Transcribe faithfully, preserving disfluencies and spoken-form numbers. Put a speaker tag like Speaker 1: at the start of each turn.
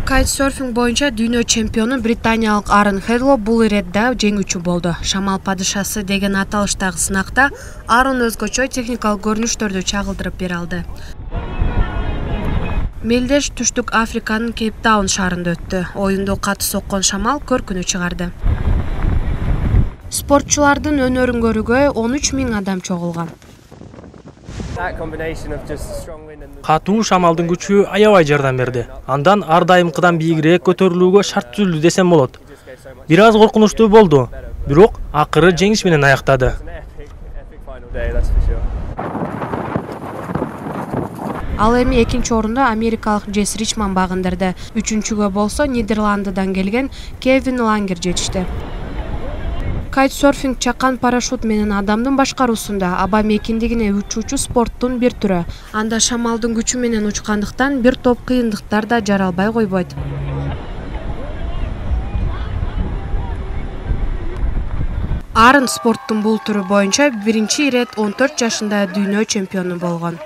Speaker 1: Кайтсерфинг боюнча дүйнө чемпиону британиялык Аарон Хедло бул иретте жеңүүчү болду. Шамал падышасы деген аталыштагы сынакта Аарон өзгөчө техникалык көрүнүштөрдү чагылдырып бере алды. Мелдеш Түштүк Африканын Кейптаун шаарында өттү. Оюнду катуу соккон шамал көркүнү чыгарды. Спортчулардын өнөрүн көрүүгө он үч миң адам чогулган.
Speaker 2: Катуу шамалдын күчү аябай жардам берди. Андан ар дайымкыдан бийигирээк көтөрүлүүгө шарт түзүлдү десем болот. Бир аз коркунучтуу болду, бирок акыры жеңиш менен аяктады.
Speaker 1: Ал эми экинчи орунду америкалык Джесс Ричман багындырды. Үчүнчүгө болсо Нидерландыдан келген Кевин Лангер жетишти. Кайтсерфинг чакан парашют менен адамдын башкаруусунда аба мейкиндигине учуучу спорттун бир түрү. Анда шамалдын күчү менен учкандыктан бир топ кыйындыктар да жаралбай койбойт. Аарон спорттун бул түрү боюнча биринчи ирет он төрт жашында дүйнө чемпиону болгон.